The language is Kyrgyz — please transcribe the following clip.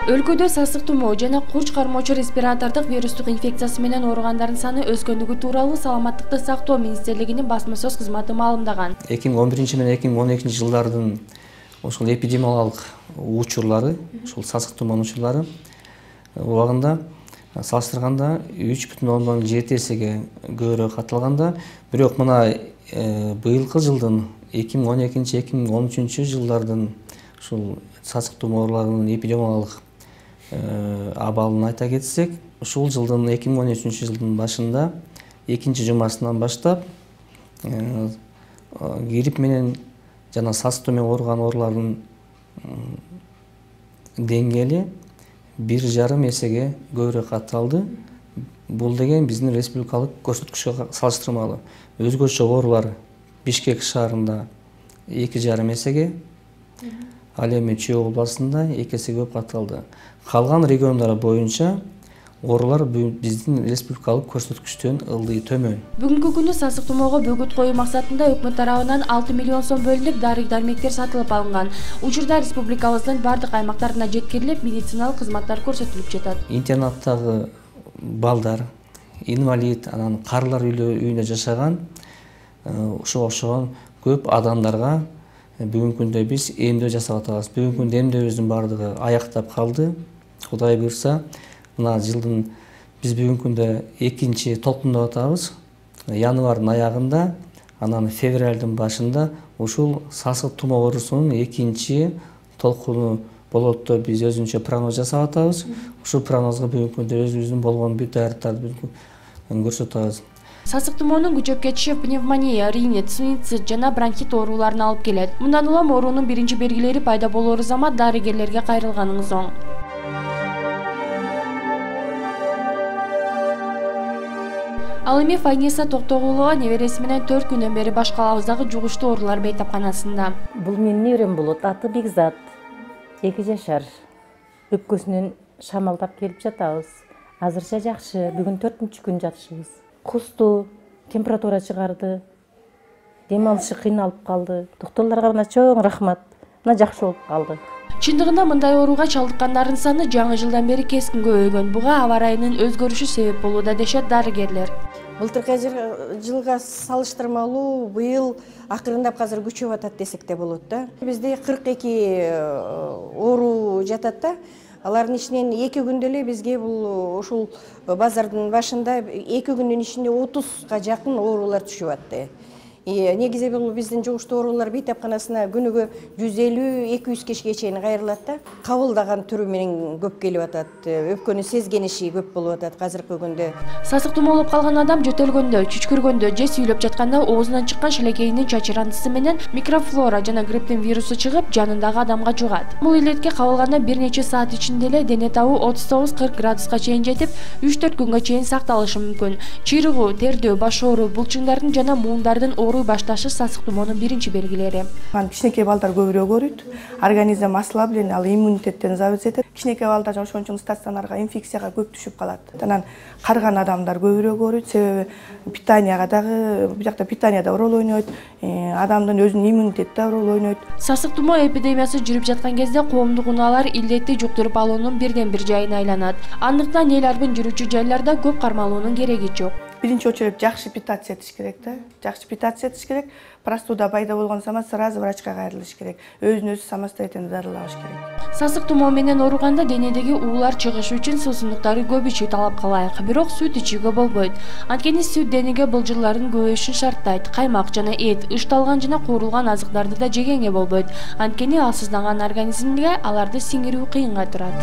Өлкөдө сасык тумоо жана курч кармоочу респиратордук вирустук инфекциясы менен ооругандардын саны өскөндүгү тууралуу Саламаттыкты сактоо министрлигинин басма сөз кызматы маалымдаган. 2011 менен 2012 жылдардын ошол эпидемиологиялык учурлары, ошол сасык тумоонун учурлары убагында салыштырганда 3,7 эсеге көбүрөөк катталганда, бирок мына быйылкы жылдын 2012-2013 жылдардын ушул сасык тумоо ооруларынын эпидемиологиялык абалын айта кетсек, ушул жылдын 2013 жылдын башында экинчи жумасынан баштап грипп менен жана сасык тумоо ооруган оорулардын деңгээли 1,5 эсеге көбүрөөк катталды. Бул деген биздин республикалык көрсөткүчкө салыштырмалуу. Өзгөчө оорулар Бишкек шаарында 2,5 эсеге, ал эми Чүй областында 2 эсе көп катталды. Калган региондар боюнча оорулар биздин республикалык көрсөткүчтөн ылдый төмөн. Бүгүнкү күнү сасык тумоого бөгөт коюу максатында өкмөт тарабынан 6 миллион сом бөлүнүп, дары-дармектер сатылып алынган. Учурда республикабыздын бардык аймактарына жеткирилип, медициналык кызматтар көрсөтүлүп жатат. Интернаттагы балдар, инвалид, анан карылар үйүндө жашаган ошого окшогон көп адамдарга бүгүнкү күндө биз эмдөө жасап атабыз. Бүгүнкү күндө эмдөөбүздүн бардыгы аяктап калды. Кудай буйрса, мына жылдын биз бүгүнкү күндө экинчи толкундап атабыз. Январдын аягында, анан февралдын башында ушул сасык тумоо оорусунун экинчи толкуну болот деп биз өзүнчө прогноз жасап атабыз. Ушул прогнозго бүгүнкү күндө өзүбүздүн болгон бүт даярдыктарды көрсөтүп атабыз. Сасык тумоонун күчөп кетиши пневмония, ринит, синусит жана бронхит ооруларына алып келет. Мындан улам оорунун биринчи белгилери пайда болоору замат дарыгерлерге кайрылганыңыз оң. Ал эми Файниса Токтогулова небереси менен 4 күндөн бери баш калабыздагы жугуштуу оорулар бейтапканасында. Бул менин неберем болот. Аты Бекзат. 2 жашар. Өпкөсүнөн шамалдап келип жатабыз. Азырча жакшы. Бүгүн 4-күн жатышыбыз. Кусту, температура чыгарды. Дем алышы кыйналып калды. Доктурларга мына чоң рахмат. Мына жакшы болуп калды. Чындыгында мындай ооруга чалдыккандардын саны жаңы жылдан бери кескин көбөйгөн. Буга аба ырайынын өзгөрүшү себеп болууда дешет дарыгерлер. Былтыркы жылга салыштырмалуу быйыл акырындап азыр күчөп атат десек де болот да. Бизде 42 оору жатат да. Алардын ичинен 2 күндө эле бизге бул ушул базардын башында 2 күндүн ичинде 30га жакын оорулар түшүп атты. Негизи бул биздин жугуштуу оорулар бейтапканасына күнүгө 150-200 кишиге чейин кайрылат да. Кабылдаган түрү менен көп келип атат. Өпкөнү сезген иши көп болуп атат азыркы күндө. Сасык тумоолоп калган адам жөтөлгөндө, чүчкүргөндө же сүйлөп жатканда оозунан чыккан шилекейинин чачырандысы менен микрофлора жана грипптин вирусу чыгып, жанындагы адамга жугат. Бул илетке кабылганда бир нече саат ичинде эле дене табы 39-40 градуска чейин жетип, 3-4 күнгө чейин сакталышы мүмкүн. Чыйрыгуу, тердөө, баш оору, булчуңдардын жана муундардын башташы сасык тумоонун биринчи белгилери. Кичинекей балдар көбүрөөк ооруйт. Организм ослаблен, ал иммунитеттен зависит этет. Кичинекей балдар ошон үчүн стационарга инфекцияга көп түшүп калат. Анан карыган адамдар көбүрөөк ооруйт, себеби питанияга дагы, бул жакта питания да роль ойнойт, адамдын өзүнүн иммунитети да роль ойнойт. Сасык тумоо эпидемиясы жүрүп жаткан кезде коомдук унаалар илдетти жуктуруп алуунун бирден бир жайына айланат. Андыктан эл арбын жүрүүчү жайларда көп кармалуунун кереги жок. Биринчи очередь жакшы питация этиш керек да. Жакшы питация этиш керек. Простуда пайда болгон замат сразу врачка кайрылыш керек. Өзүн өзү самостоятельно дарылаш керек. Сасык тумоо менен ооруганда денедеги уулар чыгышы үчүн суусундуктарды көп ичүү талап кылайык. Бирок сүт ичүүгө болбойт. Анткени сүт денеге былжырлардын көбөйүшүн шарттайт. Каймак жана эт, ышталган жана куурулган азыктарды да жегенге болбойт. Анткени алсызданган организмге аларды сиңирүү кыйынга турат.